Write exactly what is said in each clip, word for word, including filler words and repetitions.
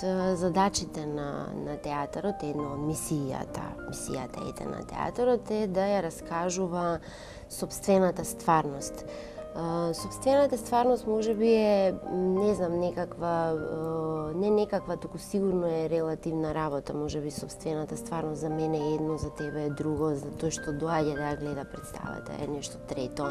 од задачите на, на театарот, една од мисијата, мисијата ете на театарот е да ја раскажува сопствената стварност. Uh, Сопствената стварност може би е, не знам, некаква, uh, не некаква, туку сигурно е релативна работа. Може би сопствената стварност за мене е едно, за тебе е друго, за тој што доаѓа да ја гледа представата е нешто трето.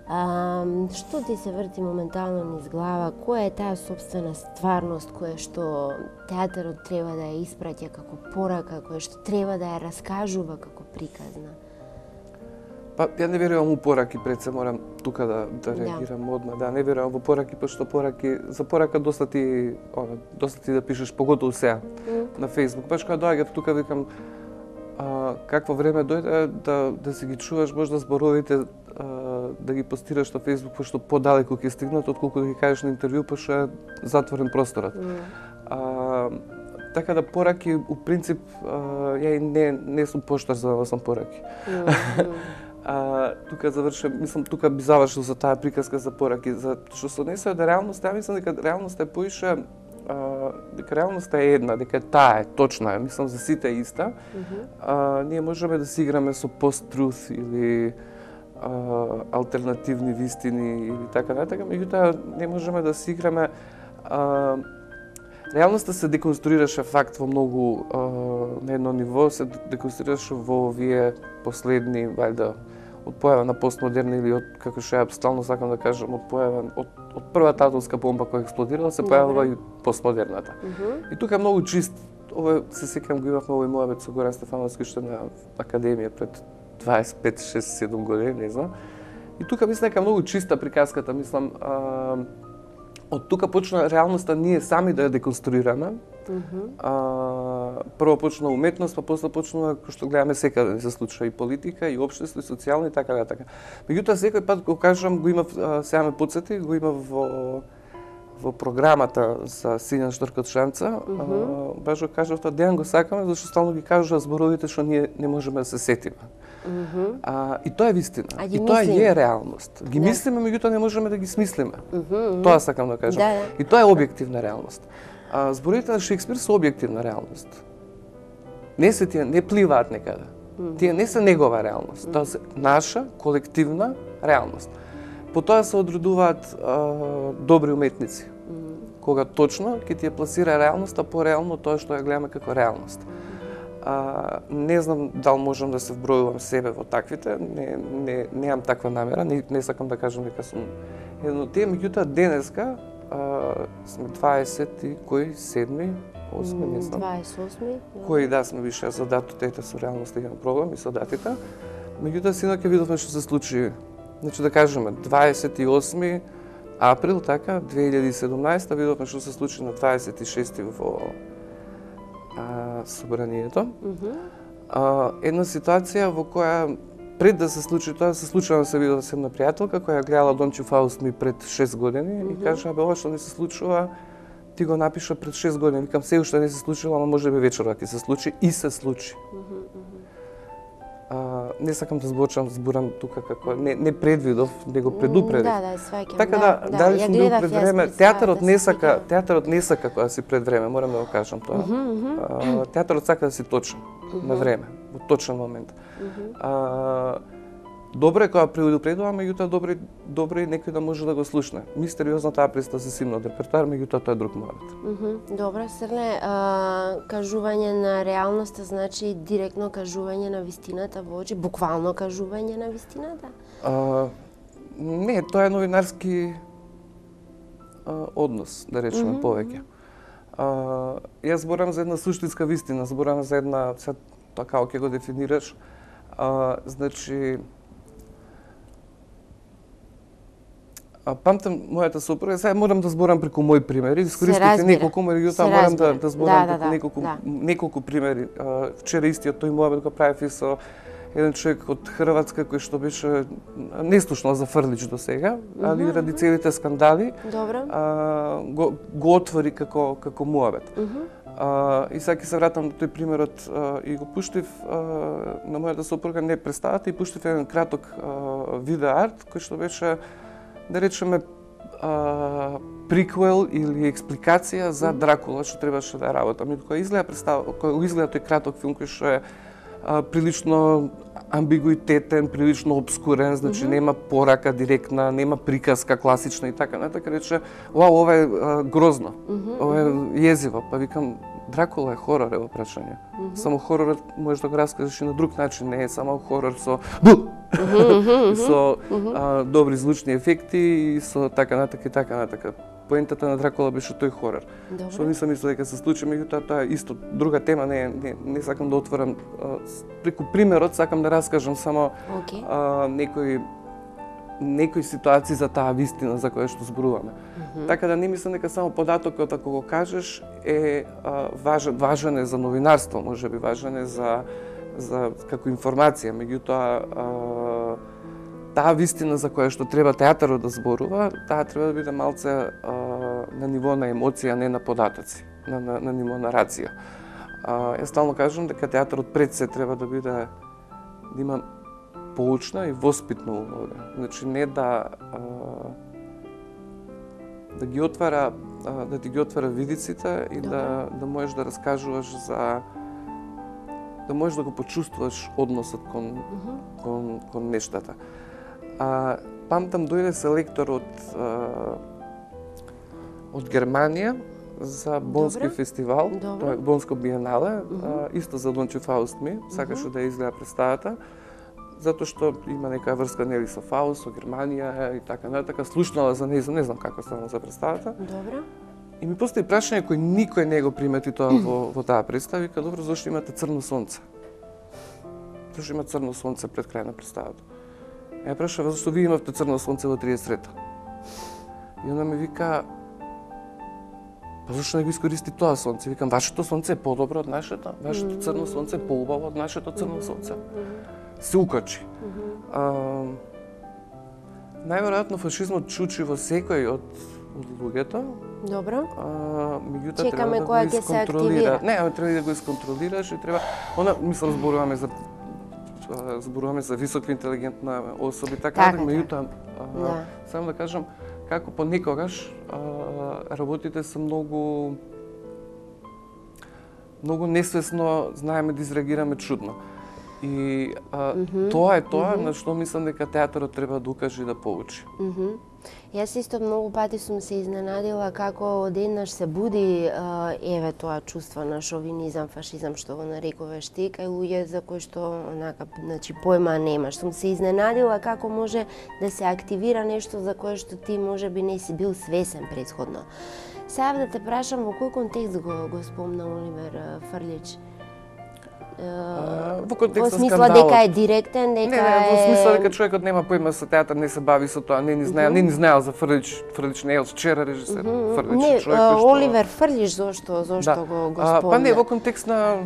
Uh, што ти се врти моментално низ глава? Која е таа сопствена стварност која што театарот треба да ја испраќа како порака, која што треба да ја раскажува како приказна? Па, ја не верувам во пораки, пред се морам тука да, да реагирам да. Одма. Да, не верувам во пораки, пошто пораки, за порака доста ти, она, доста ти да пишеш, поготово сега mm. на Facebook. Баш кога доаѓав тука, викам, а, какво време дојде да, да си ги чуваш можда зборовите, а, да ги постираш на Facebook, пошто подалеку ќе стигнат, отколку да ги кажеш на интервју, пошто е затворен просторот. Mm. А, така да пораки, у принцип, а, ја и не, не сум поштар за да сам пораки. Mm. А, тука завршам, мислам, тука би завршил за таа приказка за пораки, за што се однесува до реалноста, ја мислам дека реалноста е поише, а, дека реалноста е една, дека таа е точна, ја мислам за сите е иста. Mm -hmm. а, ние можеме да си играме со пост-труth или а, алтернативни вистини или така натака, меѓутоа не можеме да си играме. А, реалноста се деконструираше факт во многу а, на едно ниво, се деконструираше во овие последни, вајда, од појава на постмодерна или од, како што ја стално сакам да кажам, од појава од, од првата атомска бомба која експлодирала, се појавила и постмодерната. Mm -hmm. И тука е многу чист, ова се сеќавам го имавме овој мојавец со Горан Стефановски што на академија пред дваесет и пет, шесет, седум години, не знам. И тука мислам дека многу чиста приказката, мислам, а, од тука почна реалноста ние сами да ја деконструираме. Mm -hmm. а, прво почна уметност, па после почна, кој што гледаме секаде, да се случува и политика, и општество, и социјално, и така, така. Меѓутоа, секој пат го кажам, го имав, сега ме подсети, го имав во, во програмата за Сињан шторкот шанца, mm -hmm. а, баш го кажав, тоа Дејан го сакаме, зашто стално ги кажува зборовите што ние не можеме да се сетиме. Mm -hmm. а, и тоа е вистина. И тоа е реалност. Ги да. Мислиме, меѓутоа не можеме да ги смислиме. Mm -hmm. Тоа сакам да кажам. Да, да. И тоа е објективна реалност. А, зборовите на Шекспир се објективна реалност. Не се тие, не пливаат некаде. Mm -hmm. Тие не се негова реалност. Тоа се наша колективна реалност. По тоа се одредуваат а, добри уметници. Mm -hmm. Кога точно ќе ти ја пласира реалноста по-реално тоа што ја гледаме како реалност. А, не знам дали можам да се вбројувам себе во таквите, не, не, немам таква намера, не, не сакам да кажам дека сум едно од тие, меѓутоа денеска а, сме дваесет и кој седми, осми, не знам. дваесет и осми. Кој да сме више за датата, ете со реалноста имам проблем и со датите. Меѓутоа синоќа видовме што се случи. Значи да кажеме дваесет и осми април, така, две илјади и седумнаесета, видовме што се случи на дваесет и шести во а, собранието. Mm -hmm. а, една ситуација во која пред да се случи тоа, се случува да се видела с една пријателка која гледала Дончо Фаусми пред шест години mm -hmm. и кажа, абе ова што не се случува, ти го напиша пред шест години. Викам, се уште не се случило, ама може би вечерва ќе се случи и се случи. Mm -hmm. А, не сакам да зборчам, зборам тука како не не предвидов, не го предупредив. Да, да, сваќам. Така да, да, дали сум бил пред време, театарот не сака, театарот не сака кога си пред време, морам да го кажам тоа. Mm -hmm. а, театарот сака да си точен, mm -hmm. на време, во точен момент. Mm -hmm. а, добро е кога предупредува, меѓутоа добро добро е некој да може да го слушне. Мистериозна таа представа се симно од репертоар, меѓутоа тоа е друг муабет. Mm -hmm. Добро, Срне, а, кажување на реалноста значи директно кажување на вистината во очи, буквално кажување на вистината? А, не, тоа е новинарски а, однос, да речеме, mm -hmm. повеќе. А, јас зборам за една суштинска вистина, зборам за една, сега тоа како ќе го дефинираш, а, значи, А, памтам мојата сопруга, сега морам да зборам преку мој примери, искористите неколку, меѓутоа морам да, да зборам да, преку да, неколку, да. неколку примери. А, вчера истиот тој муабет го правев и со еден човек од Хрватска кој што беше неслушнал за Фрлич до сега, mm -hmm. али ради целите скандали а, го, го отвори како како муабет. Mm -hmm. А, и сега ќе се вратам на тој примерот а, и го пуштив а, на мојата сопруга не представата и пуштив еден краток а, видео арт кој што беше, да речеме, а, приквел или експликација за Дракула што требаше да работам. Кога изгледа представа, кога изгледа тој краток филм кој што е а, прилично амбигуитетен, прилично обскурен, значи mm -hmm. нема порака директна, нема приказка класична и така натака, рече, вау, ова е а, грозно, mm -hmm. ова е језиво, па викам, Дракула е хорор, ево прашање. Mm -hmm. Само хоророт можеш да го раскажеш и на друг начин, не е само хорор со бу, mm -hmm. со а, добри звучни ефекти и со така натака и така натака. Поентата на Дракула беше тој хорор. Добре. Што нисам мислел дека се случи, меѓутоа тоа е исто друга тема, не не не сакам да отворам а, преку примерот, сакам да раскажам само okay. а, некои некои ситуации за таа вистина за која што зборуваме. Mm -hmm. Така да не мислам дека само податокот ако го кажеш е а, важен, важен е за новинарство, можеби важен е за за како информација, меѓутоа а, таа вистина за која што треба театарот да зборува, таа треба да биде малце а, на ниво на емоција, не на податоци, на, на, на ниво на рација. А, јас стално кажам дека театарот пред се треба да биде, да има поучна и воспитна улога. Значи не да а, да ги отвара, а, да ти ги отвара видиците и да, да можеш да раскажуваш за да можеш да го почувствуваш односот кон, mm -hmm. кон, кон нештата. А, памтам, дојде селектор од а, од Германија за Бонски Добре. фестивал, Добре. Бонско биенале, mm -hmm. а, исто за Don't You Faust Me, сакаше mm -hmm. да изгледа представата, затоа што има нека врска нели со Фауст, со Германија и така натака, слушнала за нејзин, не знам како станало за представата. Добре. И ми постои прашање кој никој не го примети тоа во, во таа представа, вика, добро, зашто имате црно сонце? Зашто има црно сонце пред крај на представата? Ја прашава зашто вие имавте црно сонце во триесетта. И она ми вика, па зашто не го искористи тоа сонце? Викам, вашето сонце е подобро од нашето, вашето црно сонце е поубаво од нашето црно сонце. Се укачи. А, најверојатно фашизмот чучи во секој од од луѓето. Добро. А, меѓутоа треба да го исконтролира. Не, ама треба да го исконтролираш и треба, она мислам зборуваме за зборуваме за високо интелигентна особи, така, така да, меѓутоа да. Само да кажам како понекогаш а, работите се многу многу несвесно знаеме да изреагираме чудно. И а, mm -hmm. тоа е тоа mm -hmm. на што мислам дека театарот треба да укаже и да поучи. Mm -hmm. Јас исто многу пати сум се изненадила како одеднаш се буди а, еве тоа чувство на шовинизам, фашизам што го нарекуваш ти, кај луѓе за кои што онака, значи појма немаш. Сум се изненадила како може да се активира нешто за кое што ти можеби не си бил свесен претходно. Сега да те прашам во кој контекст го го спомна Оливер Фрлич? Uh, во контекст во смисла дека е директен, дека не, не, во смисла дека човекот нема појма со театар, не се бави со тоа, не ни знае, uh -huh. не ни знаел за Фрлич, Фрлич не е од вчера режисер, uh -huh. Фрлич не, човек uh, што Оливер Фрлич зошто зошто да. го го спомна? Па не во контекст на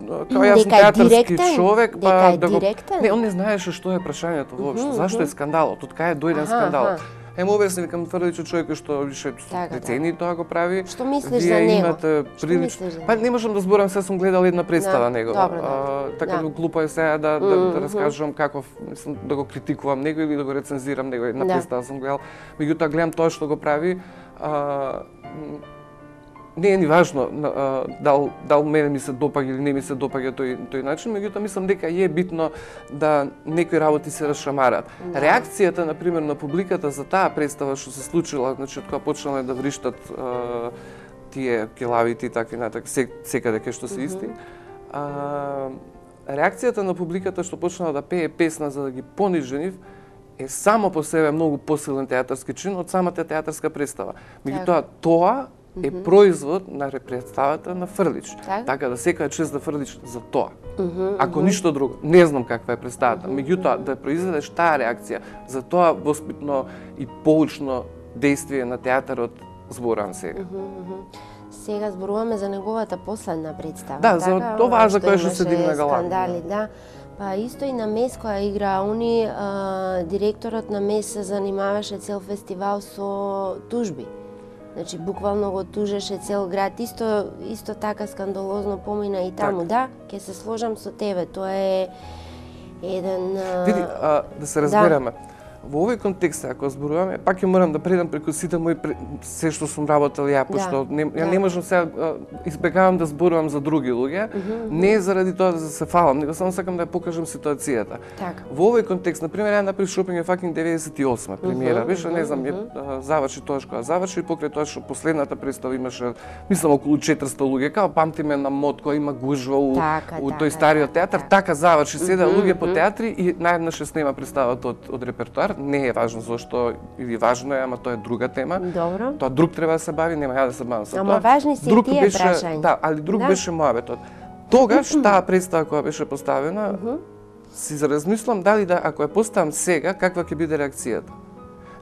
као јас сум театарски човек, па да го не, он не знаеше што е прашањето воопшто, uh -huh. зашто е скандалот, од кај е дојден скандалот. Е, му обясни, викам, Фрлич човек што више децени тоа го прави. Што мислиш за него? Имате прилич... Па не можам да зборам, се сум гледал една представа да, негова. Добро, да. Така да. Глупо е сега да, да, mm -hmm. да раскажувам како, мислам, да го критикувам него или да го рецензирам него. Една да. представа сум гледал. Меѓутоа гледам тоа што го прави. А, не е ни важно а, дал, дал мене ми се допаѓа или не ми се допаѓа тој, тој начин, меѓутоа мислам дека е битно да некои работи се расшамарат. Да. Реакцијата, например, на публиката за таа представа што се случила, значи, кога почнале да вриштат а, тие келавите и такви натак, секаде кај што се исти, mm -hmm. а, реакцијата на публиката што почнала да пее песна за да ги понижи нив, е само по себе многу посилен театарски чин од самата театарска представа. Меѓутоа, тоа е производ на представата на Фрлич. Так? Така да секоја чест да Фрлич за тоа. Uh -huh, Ако uh -huh. ништо друго, не знам каква е представата. Uh -huh. Меѓутоа, да произведеш таа реакција, за тоа воспитно и поучно действие на театарот зборам сега. Uh -huh, uh -huh. Сега зборуваме за неговата последна представа. Да, за така, тоа за кое што се дигна галама. Скандали, да. Па исто и на Мес која игра они, а, директорот на Мес се занимаваше цел фестивал со тужби. Значи, буквално го тужеше цел град. Исто, исто така скандалозно помина и таму. Так. Да, ќе се сложам со тебе. Тоа е еден... Види, а, да се разбереме. Во овој контекст, ако зборуваме, пак ќе морам да предам преку сите мои се што сум работел ја, пошто да, не, ја да. не можам сега избегавам да зборувам за други луѓе, mm -hmm. не е заради тоа да се фалам, него само сакам да ја покажам ситуацијата. Так. Во овој контекст, на пример, ја направив шопинг факинг деветдесет и осма премиера, беше, mm -hmm. не знам, ја заврши тоа што заврши, покрај тоа што последната представа имаше, мислам околу четиристо луѓе, као памтиме на мод кој има гужва у, така, у тој стариот театар, така, така заврши, седа mm -hmm. луѓе по театри и наеднаш се снема представата од, од репертоар. Не е важно зошто или важно е, ама тоа е друга тема. Добро. Тоа друг треба да се бави, нема ја да се бавам со тоа. Ама важни се и тие прашања. Да, али друг да. беше моабетот. Тогаш таа представа која беше поставена, uh -huh. си заразмислам дали да ако ја поставам сега, каква ќе биде реакцијата.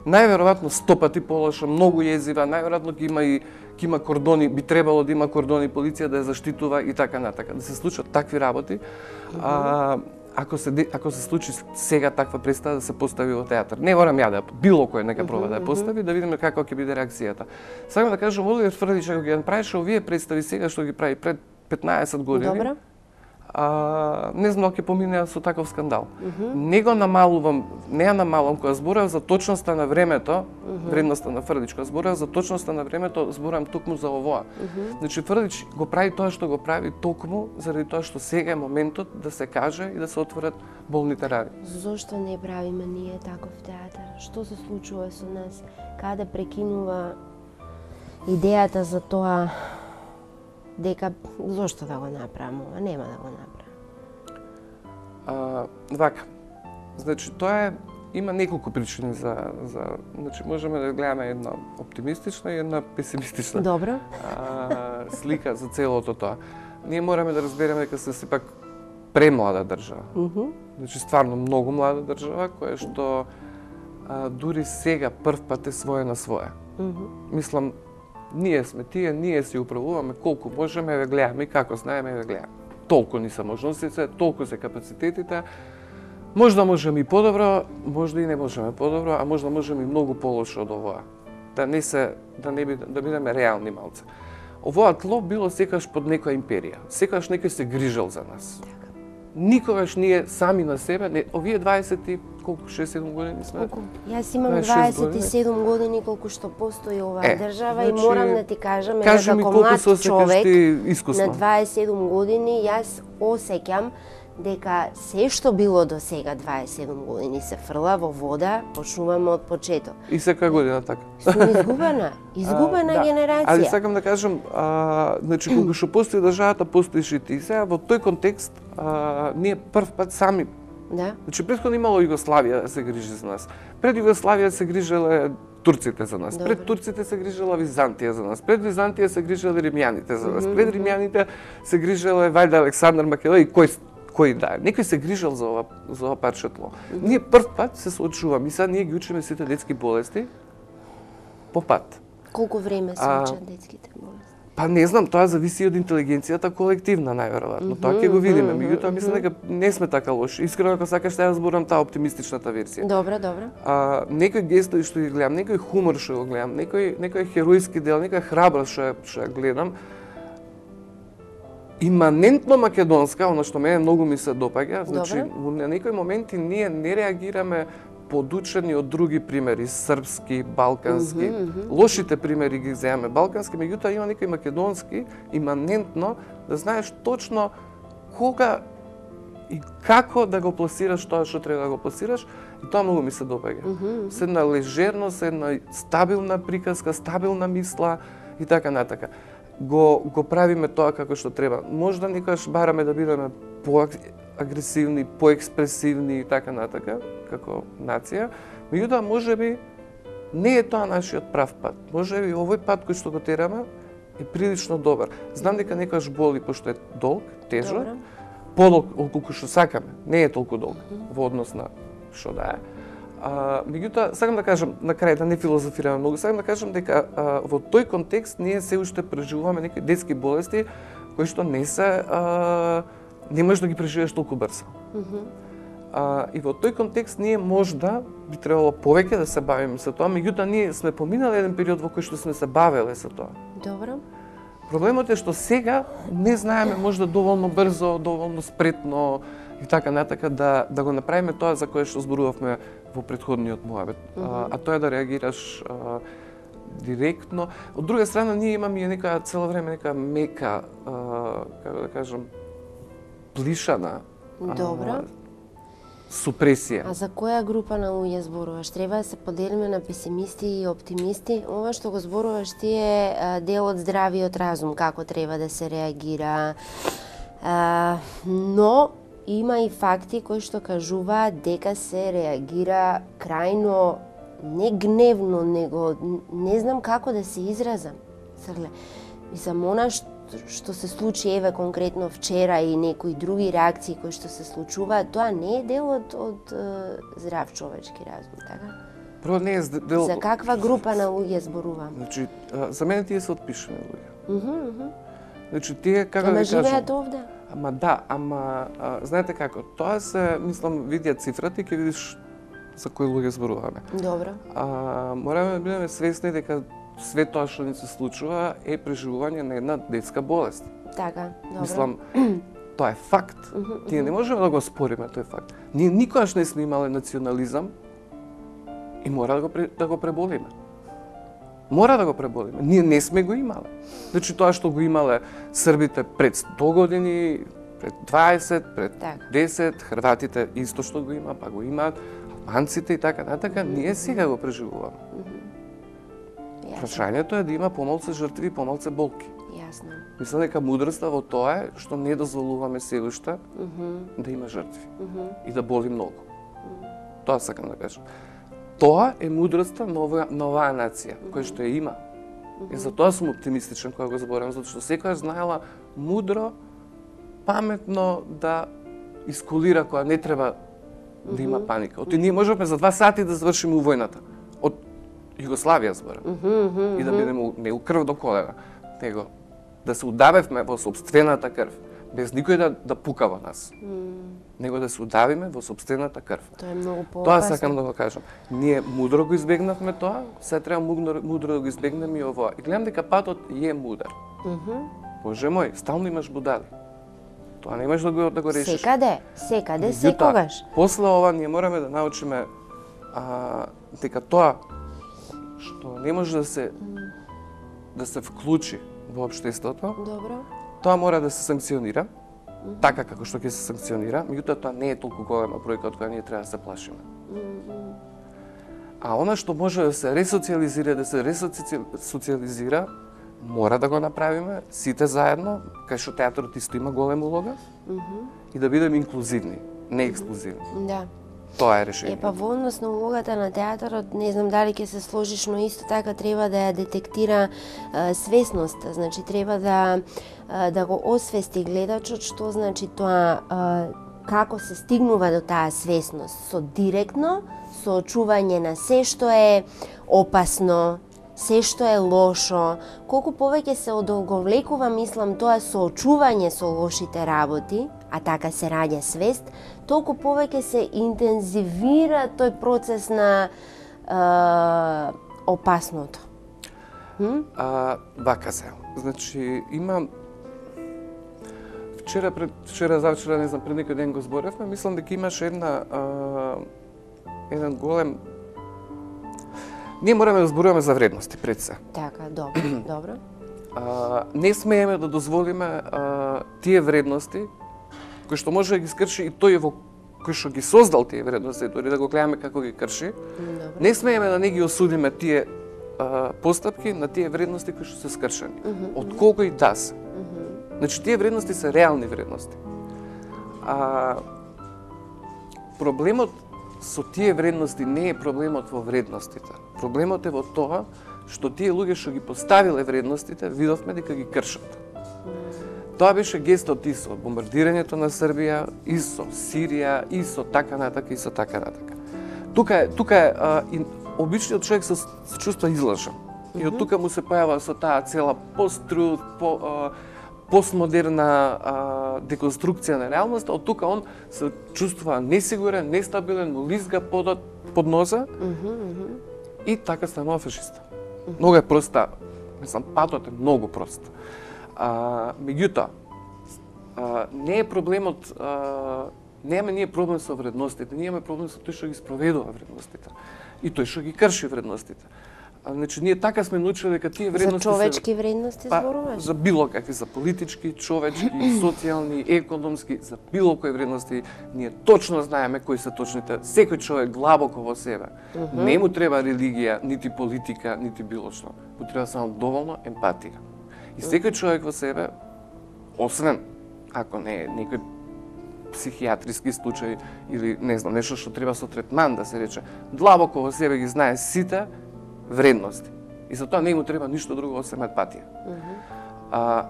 Најверојатно сто пати полоша, многу језива, најверојатно ќе има и ќе има кордони, би требало да има кордони, полиција да ја заштитува и така натака. Да се случат такви работи. Uh -huh. а, Ако се ако се случи сега таква представа да се постави во театар, не морам ја да било кој нека проба да ја постави, да видиме каква ќе биде реакцијата. Сакам да кажам, Оливер Фрдич ако ги направише овие представи сега што ги прави пред петнаесет години. Добро. А, не знам ќе поминеа со таков скандал. Uh -huh. Не го намалувам, не ја намалувам кога зборувам за точноста на времето, uh -huh. вредноста на Фрдич, кога зборувам за точноста на времето, зборувам токму за овоа. Uh -huh. Значи Фрдич го прави тоа што го прави токму заради тоа што сега е моментот да се каже и да се отворат болните рани. Зошто не правиме ние таков театар? Што се случува со нас? Каде прекинува идејата за тоа дека зошто да го направам ова, нема да го направам. А, вака. Значи тоа е има неколку причини за за значи можеме да гледаме една оптимистична и една песимистична. Добро. А, слика за целото тоа. Ние мораме да разбереме дека се сепак премлада држава. Mm -hmm. Значи стварно многу млада држава која што а, дури сега прв пат е своја на своја. Mm -hmm. Мислам ние сме тие, ние си управуваме колку можеме, ве гледаме и како знаеме, ве гледаме. Толку ни се можностите, толку се капацитетите. Можда можеме и подобро, можда и не можеме подобро, а можда можеме и многу полошо од овоа. Да не се да не биде, да бидеме реални малце. Овоа тло било секогаш под некоја империја. Секогаш некој се грижел за нас. Никогаш ние сами на себе, не, овие дваесет и колку шест седум години сме. Колку? Јас имам дваесет и седум години колку што постои оваа е, држава значи, и морам да ти кажам дека како млад човек на дваесет и седум години јас осеќам дека се што било до сега дваесет и седум години се фрла во вода, почнуваме од почеток. И секоја година така. Сум изгубена, изгубена а, генерација. Да. Али сакам да кажам, а, значи кога што постои државата, постоиш и ти. Сега во тој контекст а, ние прв пат сами. Да. Значи претходно имало Југославија да се грижи за нас. Пред Југославија се грижеле турците за нас. Добре. Пред турците се грижела Византија за нас. Пред Византија се грижеле римјаните за нас. Mm -hmm. Пред римјаните се грижеле вајда Александар Македон и кој кој да е. Некој се грижел за ова за ова парче тло. Mm -hmm. Ние прв пат се соочуваме и сега ние ги учиме сите детски болести по пат. Колку време се учат детските болести? Па не знам, тоа зависи од интелигенцијата колективна најверојатно. Mm -hmm, тоа ќе го видиме. Меѓутоа мислам дека не сме така лоши. Искрено ако сакаш да ја зборам таа оптимистичната версија. Добро, добро. А некои гестови што ги гледам, некој хумор што го гледам, некој некој херојски дел, некоја храброст што што ја гледам, иманентно македонска, она што мене многу ми се допаѓа, значи на некои моменти ние не реагираме подучени од други примери, српски, балкански. Mm -hmm, mm -hmm. Лошите примери ги земаме балкански, меѓутоа има некои македонски, иманентно да знаеш точно кога и како да го пласираш тоа што треба да го пласираш, и тоа многу ми се допаѓа. Mm -hmm. Се една лежерност, една стабилна приказка, стабилна мисла и така натака. Го го правиме тоа како што треба. Можда некогаш бараме да бидеме поагресивни, поекспресивни и така натака, како нација, меѓутоа можеби не е тоа нашиот прав пат. Можеби овој пат кој што го тераме е прилично добар. Знам дека некогаш боли пошто е долг, тежок, подолг отколку што сакаме, не е толку долг mm -hmm. во однос на што да е. А, меѓутоа, сакам да кажам, на крај да не филозофираме многу, сакам да кажам дека а, во тој контекст ние се уште преживуваме некои детски болести кои што не се а, не можеш да ги преживееш толку брзо. Mm -hmm. а, и во тој контекст ние можда би требало повеќе да се бавиме со тоа, меѓутоа ние сме поминали еден период во кој што сме се бавеле со тоа. Добро. Проблемот е што сега не знаеме можда доволно брзо, доволно спретно, и така натака да да го направиме тоа за кое што зборувавме во претходниот муабет, mm -hmm. а, а тоа е да реагираш а, директно. Од друга страна ние имаме и нека цело време нека мека, а, како да кажам, плишана. Добро. Супресија. А за која група на луѓе зборуваш? Треба да се поделиме на песимисти и оптимисти? Ова што го зборуваш ти е дел од здравиот разум, како треба да се реагира. А, но има и факти кои што кажуваат дека се реагира крајно не гневно, него не знам како да се изразам. Сагле, мислам, она што што се случи еве конкретно вчера и некои други реакции кои што се случуваат, тоа не е дел од, од здрав човечки разум, така? Прво не е дел... За каква група на луѓе зборувам? Значи, за мене тие се отпишени луѓе. Мхм, мхм. Значи, тие, како ама да кажам... живеат овде? Ама да, ама, а, знаете како, тоа се, мислам, видија цифрата и ќе видиш за кои луѓе зборуваме. Добро. А, мораме да бидеме свесни дека све тоа што ни се случува е преживување на една детска болест. Така, добро. Мислам, тоа е факт. Uh -huh, Тие не можеме да го спориме, тој факт. Ние никогаш не сме имале национализам и мора да го, да го преболиме. Мора да го преболиме. Ние не сме го имале. Значи тоа што го имале србите пред сто години, пред дваесет, пред так. десет, хрватите исто што го има, па го имаат, албанците и така натака, ние сега го преживуваме. Uh -huh. Прашањето е да има помалку жртви и помалку болки. Јасно. Мислам дека мудроста во тоа е што не дозволуваме се уште uh -huh. да има жртви uh -huh. и да боли многу. Uh -huh. Тоа сакам да кажам. Тоа е мудроста на оваа, на оваа нација, uh -huh. која што ја има. Uh -huh. И затоа сум оптимистичен кога го зборам, затоа што секоја знаела мудро, паметно да искулира кога не треба да има паника. Оти ние можеме за два сати да завршиме војната. Од Југославија зборам. Uh -huh, uh -huh. И да бидеме не у крв до колена, него да се удавевме во сопствената крв, без никој да, да пука во нас. Mm. Него да се удавиме во сопствената крв. Тоа е многу поопасно. Тоа сакам да го кажам. Ние мудро го избегнавме тоа, сега треба мудро, мудро да го избегнеме и ова. И гледам дека патот е мудар. Mm -hmm. Боже мој, стално имаш будали. Тоа не можеш да го, да го решиш. Секаде, секаде, секогаш. После ова ние мораме да научиме а, дека тоа што не може да се да се вклучи во општеството. Добро. Тоа мора да се санкционира, mm -hmm. така како што ќе се санкционира, меѓутоа тоа не е толку голема бројка од која ние треба да се плашиме. Mm -hmm. А она што може да се ресоциализира, да се ресоциализира, мора да го направиме сите заедно, кај што театарот исто има голема улога, mm -hmm. и да бидеме инклузивни, не ексклузивни. Да. Тоа е решение. Е, па во однос на улогата на театарот, не знам дали ќе се сложиш, но исто така треба да ја детектира е, свесност. Значи, треба да, е, да го освести гледачот што значи тоа, е, како се стигнува до таа свесност. Со директно соочување на се што е опасно, се што е лошо. Колку повеќе се одолговлекува, мислам, тоа соочување со лошите работи, а така се раѓа свест, толку повеќе се интензивира тој процес на е, опасното. Хм? А, вака се. Значи, има... Вчера, пред, вчера, завчера, не знам, пред некој ден го зборевме, мислам дека имаше една... А, еден голем... Ние мораме да зборуваме за вредности пред се. Така, добро, добро. А, не смееме да дозволиме а, тие вредности кои што може да ги скрши и тој во кој што ги создал тие вредности, дори да го гледаме како ги крши. Добро. Не смееме да не ги осудиме тие а, постапки на тие вредности кои што се скршени. Uh -huh, од колку и да се. Uh -huh. Значи, тие вредности се реални вредности. А, проблемот со тие вредности не е проблемот во вредностите. Проблемот е во тоа што тие луѓе што ги поставиле вредностите, видовме дека ги кршат. Тоа беше гестот и со бомбардирањето на Србија, и со Сирија, и со така натака, и со така натака. Тука е, тука е а, и, обичниот човек се, се чувства излажен. И од тука му се појава со таа цела посттруд, по, а, постмодерна а, деконструкција на реалноста, од тука он се чувствува несигурен, нестабилен, му лизга подот под ноза, mm -hmm. и така станува фашиста. Mm -hmm. Многу е проста, мислам, патот е многу прост. А, меѓутоа, а, не е проблемот а, Немаме ние проблем со вредностите, ние имаме проблем со тој што ги спроведува вредностите и тој што ги крши вредностите. А, значи, ние така сме научили дека тие вредности за човечки се... вредности па, зборуваш? За било какви, за политички, човечки, социјални, економски, за било кои вредности, ние точно знаеме кои се точните. Секој човек длабоко во себе. Uh -huh. Не му треба религија, нити политика, нити било што. Му треба само доволно емпатија. И секој човек во себе, освен ако не е некој психијатриски случај или не знам, нешто што треба со третман да се рече, длабоко во себе ги знае сите вредности. И за тоа не му треба ништо друго освен емпатија. Uh -huh. А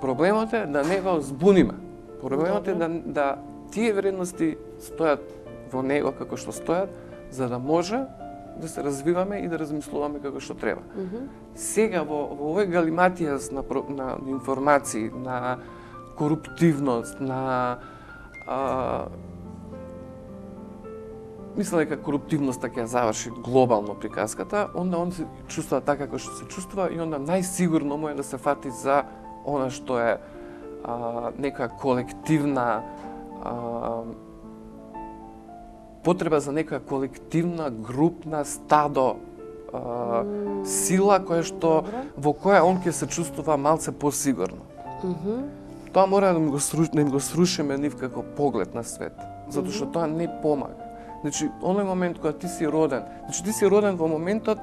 проблемот е да не го збуниме. Проблемот е да, да тие вредности стојат во него како што стојат, за да може да се развиваме и да размислуваме како што треба. Uh -huh. Сега во, во овој галиматијас на, на информации, на коруптивност, на а, мислам дека коруптивноста ќе заврши глобално приказката, онда он се чувствува така како што се чувствува и онда најсигурно му е да се фати за она што е а, нека колективна а, потреба за нека колективна, групна, стадо а, mm. сила која што во која он ќе се чувствува малце посигурно. Mm -hmm. Тоа мора да го сру, да го срушиме нив како поглед на свет, затоа што mm -hmm. тоа не помага. Значи, оној момент кога ти си роден, значи ти си роден во моментот,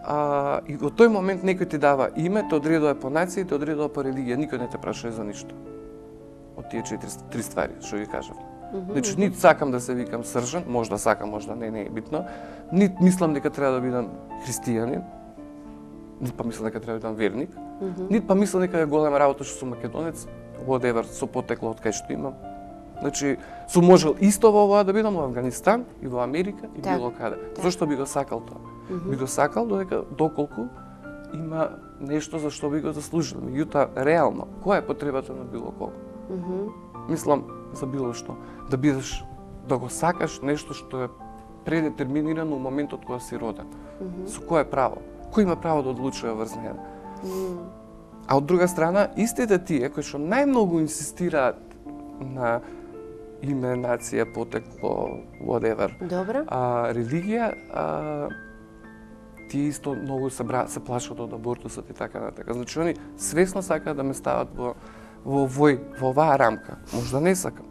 а, и во тој момент некој ти дава име, те одредува по нација, те одредува по религија, никој не те прашува за ништо. Од тие четири три ствари што ги кажав. Mm -hmm. Значи, нит сакам да се викам Сржан, можда сакам, можда не, не е битно, нит мислам дека треба да бидам христијанин, нит па мислам дека треба да бидам верник, mm -hmm. нит па мислам дека е голема работа што сум македонец, whatever, со потекло од кај што имам. Значи, сум можел исто во ова да бидам во Афганистан и во Америка и так, било каде. Так. Зошто би го сакал тоа? Mm -hmm. Би го сакал додека доколку има нешто за што би го заслужил. Меѓутоа, реално, која е потребата на било кого? Mm -hmm. Мислам, за било што. Да бидеш, да го сакаш нешто што е предетерминирано во моментот кога си роден. Mm -hmm. Со кое право? Кој има право да одлучува врз неа? Mm -hmm. А од друга страна, истите тие кои што најмногу инсистираат на име, нација, потекло, whatever, Добре. А, религија, а, тие исто многу се, бра, се плашат од абортусот и така натака. Значи, они свесно сакаат да ме стават во, во, вој, во оваа рамка. Можда не сакам.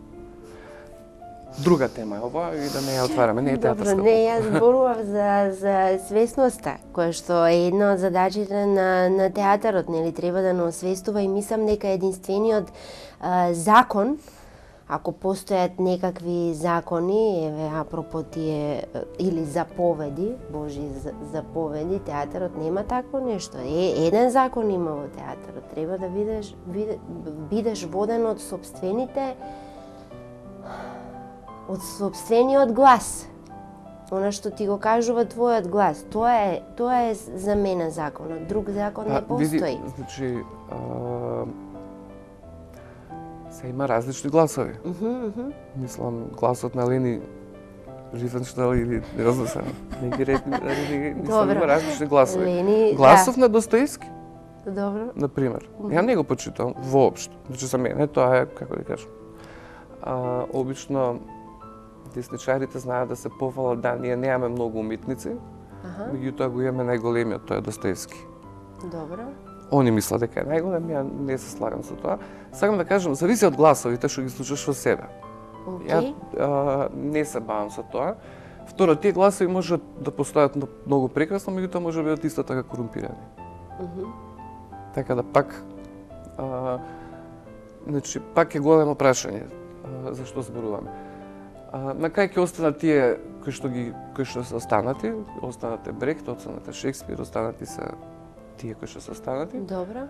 Друга тема е ова и да не ја отвараме, не е театарска. Добро, не, јас зборував за, за свесноста, која што е една од задачите на, на театарот, нели, треба да не освестува и мислам дека единствениот а, закон, ако постојат некакви закони, еве апропо тие или заповеди, Божи заповеди, театарот нема такво нешто. Е, еден закон има во театарот, треба да бидеш биде, бидеш воден од сопствените од сопствениот глас. Она што ти го кажува твојот глас, тоа е тоа е за мене законот. Друг закон а, не постои. Види, значи, а... се има различни гласови. Uh -huh, uh -hmm. Мислам, гласот на Лени Рифенштал или не знам се, не ги рекли, мислам, има различни гласови. Лени, Гласов да. на Достоевски, Добро. например. Uh -huh. Ја не го почитам воопшто. Значи, за мене тоа е, како да кажам, а, обично десничарите знаат да се пофалат да ние немаме многу уметници, ага. Меѓутоа го имаме најголемиот, тоа е Достоевски. Добро. Они мислат дека е најголем, ја не се слагам со тоа. Сакам да кажам, зависи од гласовите што ги слушаш во себе. Okay. Ја а, не се бавам со тоа. Второ, тие гласови можат да постојат многу прекрасно, меѓутоа може да бидат исто така корумпирани. Uh -huh. Така да пак, а, значи, пак е големо прашање а, за што зборуваме. А, на кај ќе останат тие кои што ги кои што се останати, останате Брехт, останате Шекспир, останати се тие кои што се останати. Добро.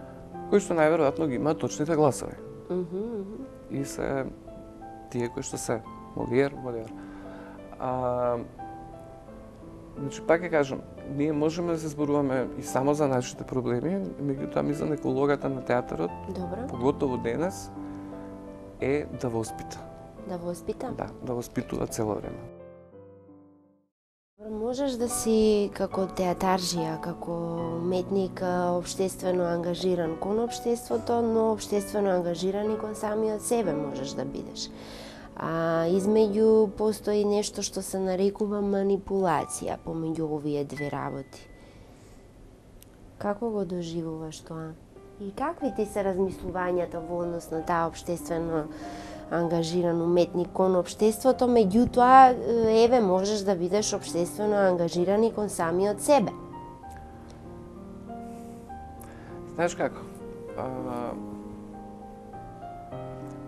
Кои што најверојатно ги имаат точните гласови. Uh -huh, uh -huh. И се тие кои што се Молиер, Молиер. А, значи, пак ќе кажам, ние можеме да се зборуваме и само за нашите проблеми, меѓутоа мислам дека улогата на театарот, Добро. поготово денес, е да воспита. Да воспита? Да, да воспитува цело време. Можеш да си како театаржија, како уметник општествено ангажиран кон општеството, но општествено ангажиран и кон самиот себе можеш да бидеш. А измеѓу постои нешто што се нарекува манипулација помеѓу овие две работи. Како го доживуваш тоа? И какви ти се размислувањата во однос на таа општествено ангажиран уметник кон општеството, меѓутоа, еве, можеш да бидеш општествено ангажиран и кон самиот себе? Знаеш како? А...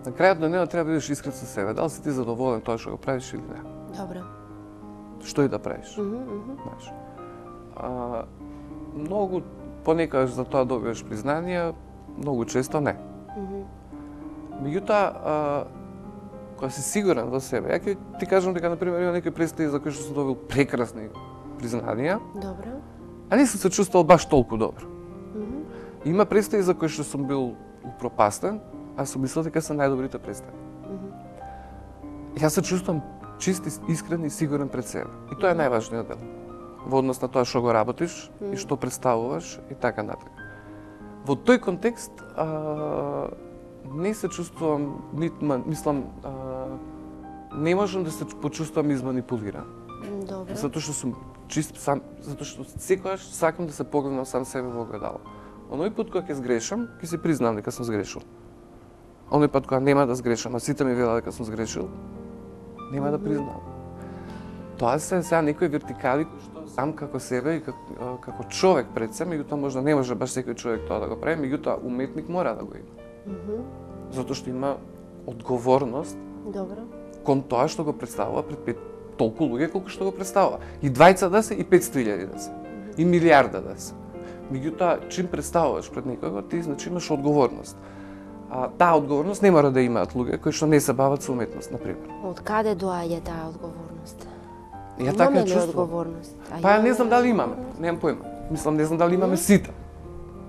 На крајот на денот треба да бидеш искрен со себе. Дали си ти задоволен тоа што го правиш или не? Добро. Што и да правиш. Mm -hmm. Знаеш. А, многу понекогаш за тоа добиваш признание, многу често не. Mm -hmm. Меѓутоа, кога си сигурен во себе, ја ќе ти кажам дека, например, има некои представи за кои што сум добил прекрасни признанија, Добро. а не сум се чувствувал баш толку добро. Mm -hmm. Има представи за кои што сум бил упропастен, а сум мислел дека се најдобрите представи. Mm -hmm. Јас се чувствувам чист, искрен и сигурен пред себе. И тоа е најважниот дел. Во однос на тоа што го работиш mm -hmm. и што представуваш и така натаму. Во тој контекст, а, не се чувствувам, нит, мислам, а, не можам да се почувствувам изманипулиран. Добро. Затоа што сум чист сам, затоа што секогаш сакам да се погледнам сам себе во огледало. Оној пат кога ќе сгрешам, ќе се признам дека сум сгрешил. Оној пат кога нема да сгрешам, а сите ми велат дека сум сгрешил, нема mm -hmm. да признам. Тоа се сега некои вертикали кои што сам како себе и како, како човек пред себе, меѓутоа можда не може баш секој човек тоа да го прави, меѓутоа уметник мора да го има. Mm -hmm. Затоа што има одговорност. Добро. Кон тоа што го представува пред пет толку луѓе колку што го представува. И двајца да се, и петсто илјади да се. Mm -hmm. И милиарда да се. Меѓутоа, чим представуваш пред некого, ти значи имаш одговорност. А таа одговорност не мора да имаат луѓе кои што не се бават со уметност, например. Од каде доаѓа таа одговорност? Ја така ја чувствувам. Одговорност? Па ја не знам дали имаме, немам појма. Мислам не знам дали имаме сите.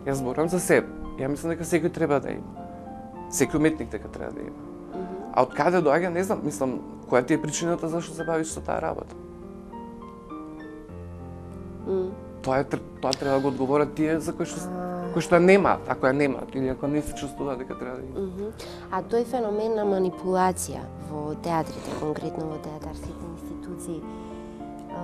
Јас зборувам за себе. Ја мислам дека секој треба да има. Секој уметник дека треба да има. Mm -hmm. А од каде доаѓа, не знам, мислам, која ти е причината зашто се бавиш со таа работа? Mm. Тоа е тоа треба да го одговорат тие за кои што кои што ја немаат, ако ја немаат или ако не се чувствуваат дека треба да има. Mm -hmm. А тој феномен на манипулација во театрите, конкретно во театарските институции, а,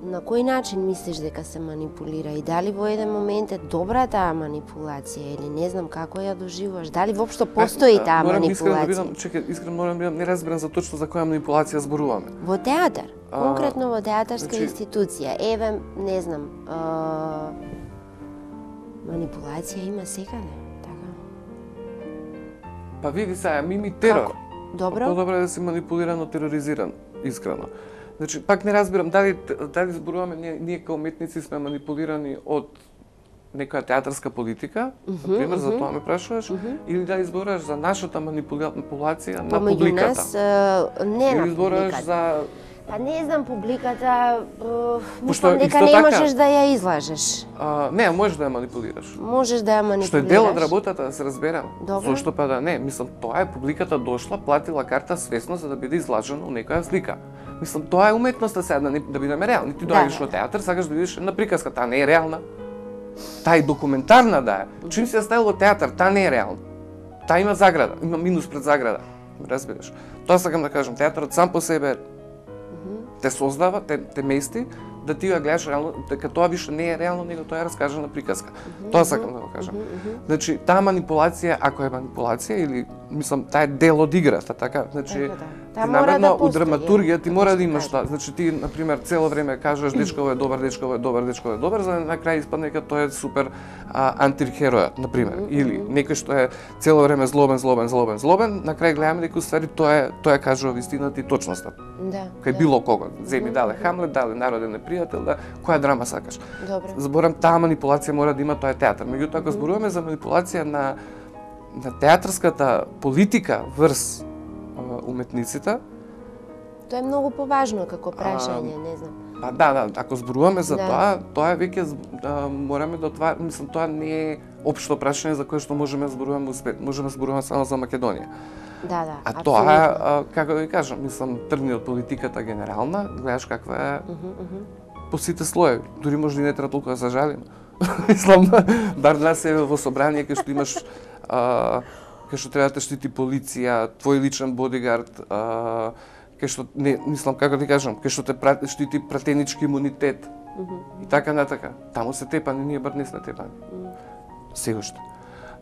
на кој начин мислиш дека се манипулира и дали во еден момент е добра таа манипулација или не знам како ја доживуваш, дали воопшто постои таа морам манипулација? Искрено да бидам, чекај, искрено морам да бидам, не разберам за точно за која манипулација зборуваме. Во театар, конкретно во театарска значи... институција, еве, не знам, а, манипулација има секаде, така? Па види сега, мими терор. Како? Добро. Подобро е да си манипулиран, но тероризиран, искрено. Значи, пак не разбирам дали дали зборуваме ние, ние како уметници сме манипулирани од некоја театарска политика, uh -huh, например, uh -huh. за тоа ме прашуваш, uh -huh. или дали зборуваш за нашата манипулација на Помеѓу публиката? нас, uh, не или на зборуваш публиката. за Па не знам, публиката, uh, Пошто мислам дека исто не така, можеш да ја излажеш. А, не, можеш да ја манипулираш. Можеш да ја манипулираш. Што е дел од работата, да се разберам. Добро. Зошто па да не? Мислам, тоа е публиката дошла, платила карта свесно за да биде излажена у некоја слика. Мислам, тоа е уметноста сега, да, не, да бидеме реални. Ти доаѓаш да, во театар, сакаш да видиш една приказка, таа не е реална. Таа е документарна да е. Чим се ставил во театар, таа не е реална. Таа има заграда, има минус пред заграда. Разбираш? Тоа сакам да кажам, театарот сам по себе те создава, те, те мести, да ти ја гледаш реално, дека тоа више не е реално, него тоа е раскажана приказка. Mm -hmm. Тоа сакам да го кажам. Mm -hmm. Значи, таа манипулација, ако е манипулација, или, мислам, таа е дел од играта, така? Значи, да, да. ти намерно, да у драматургија ти мора да имаш кажа. тоа. Значи, ти, например, цело време кажеш дечково е добар, дечково е добар, дечково е добар, за да на крај испадне дека тој е супер а, антихеројот, например. Mm -hmm. Или некој што е цело време злобен, злобен, злобен, злобен, на крај гледаме дека уствари тоа е тоа е кажува вистината и точноста. Да. Кај да. било кого. Земи дале Хамлет, дале Народен непријател, да, која драма сакаш. Добро. Зборам, таа манипулација мора да има, тоа е театар. Меѓутоа, ако зборуваме за манипулација на на театарската политика врз uh, уметниците, тоа е многу поважно како прашање, не знам. Па да, да, ако зборуваме за да. тоа, тоа е веќе а, мораме да отвараме, мислам, тоа не е општо прашање за кое што можеме да зборуваме успет. Можеме да зборуваме само за Македонија. Да, да, а апсолютно. тоа е, а, како да ви кажам, мислам, тргни од политиката генерална, гледаш каква е uh -huh, uh -huh. по сите слоеви. Дури може и не треба толку да се жалиме. Мислам, бар нас е во собрание кај што имаш а, кај што треба да те штити полиција, твој личен бодигард, а, кај што не мислам како ти кажам, кај што те прати, штити пратенички имунитет. Mm -hmm. И така натака. Таму се тепани, ние бар не сме тепани. Mm -hmm. Се уште.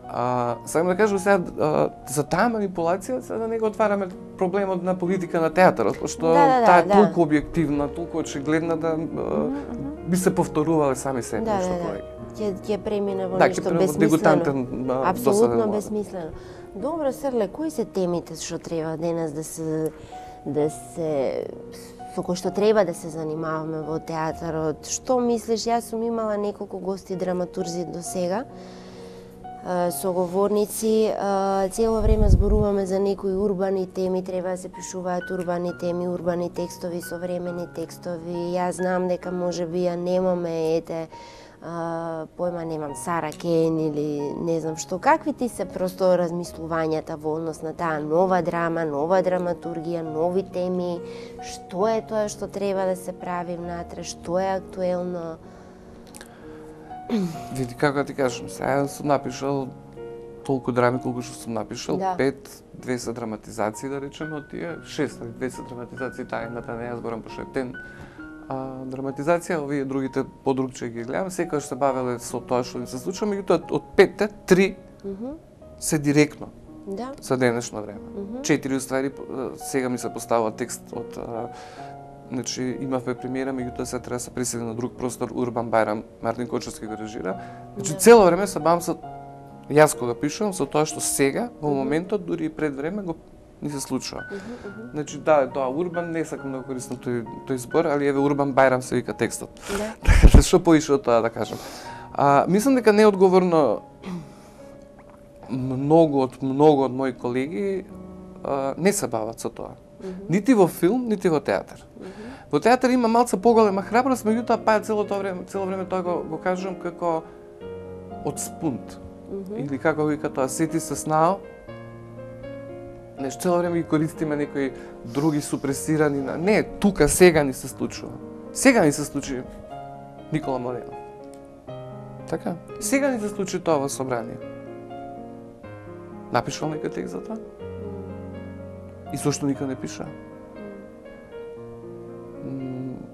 А, сакам да кажам сега, а, за таа манипулација, сега да не го отвараме проблемот на политика на театарот, пошто да, да, таа е да, толку објективна, толку очигледна да mm -hmm. би се повторувале сами себе, да, што да, повеќе. Ќе ќе премине во да, нешто безсмислено. Апсолутно безсмислено. Добро, Срле, кои се темите што треба денес да се да се со кои што треба да се занимаваме во театарот? Што мислиш? Јас сум имала неколку гости драматурзи до сега, соговорници, цело време зборуваме за некои урбани теми, треба да се пишуваат урбани теми, урбани текстови, современи текстови. Јас знам дека можеби ја немаме, ете, Uh, појма немам, Сара Кен или не знам што. Какви ти се просто размислувањата во однос на таа нова драма, нова драматургија, нови теми? Што е тоа што треба да се прави внатре? Што е актуелно? Види, како ти кажам, сега сум напишал толку драми колку што сум напишал, да. пет, двесте драматизации, да речеме, од тие шест, двесте драматизации, таа едната не ја зборам пошто е тен. А, драматизација, овие другите подругче ги гледам, секогаш се бавеле со тоа што им се случува, меѓутоа од петте, три mm -hmm. се директно да. За денешно време. Mm -hmm. Четири уствари, сега ми се поставува текст од... А, значи, имавме премиера, меѓутоа се треба да се пресели на друг простор, Урбан Бајрам, Мартин Кочевски го режира. Значи, yeah. цело време се бавам со... Јас кога пишувам, со тоа што сега, во моментот, дури и пред време, го ни се случува. Uh -huh, uh -huh. Значи, да, тоа Урбан, не сакам да го користам тој, тој збор, али еве Урбан Бајрам се вика текстот. Така да, што поише од тоа да кажам. А, мислам дека неодговорно многу од многу од мои колеги а, не се бават со тоа. Uh -huh. Нити во филм, нити во театар. Uh -huh. Во театар има малце поголема храброст, меѓутоа па цело тоа време, цело време тоа го, го кажам како од спунт. Uh -huh. Или како вика тоа, сети се снао. Нешто цело време ги користиме некои други супресирани на... Не, тука сега ни се случува. Сега ни се случи Никола Морено. Така? Сега ни се случи тоа во собрание. Напишал некој текст за тоа? И зошто никој не пиша?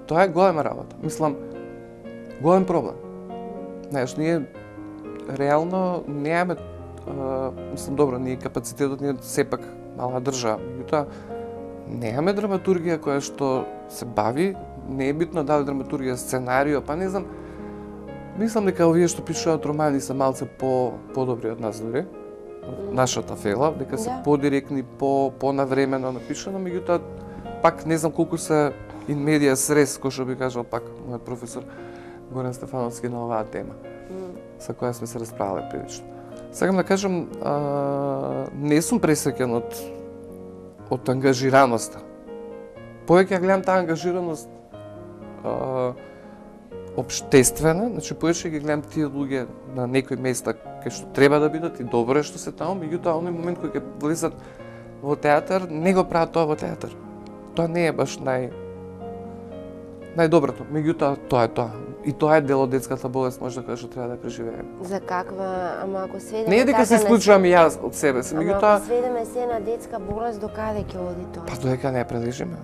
Тоа е голема работа. Мислам, голем проблем. Знаеш, ние реално немаме, мислам, добро, ние капацитетот ние сепак мала држава, меѓутоа немаме драматургија која што се бави, не е битно дали драматургија, сценарио, па не знам. Мислам дека овие што пишуваат романи се малце по подобри од нас дури, од нашата фела, дека се да. Подиректни, по понавремено напишано, меѓутоа пак не знам колку се in media res, кој што би кажал пак мојот професор Горан Стефановски на оваа тема, mm. со која сме се расправале прилично. Сакам да кажам, а, не сум пресреќен од од ангажираноста. Повеќе ја гледам таа ангажираност а, општествена, значи повеќе ги гледам тие луѓе на некои места кај што треба да бидат и добро е што се таму, меѓутоа оној момент кој ќе влезат во театар, не го прават тоа во театар. Тоа не е баш нај најдоброто, меѓутоа тоа е тоа. И тоа е дел од детската болест, може да кажа, што треба да преживееме. За каква, ама ако сведеме... Не е дека се случувам и јас од себе си, меѓутоа... Ама ако сведеме се на детска болест, до каде ќе оди тоа? Па додека не ја прележиме.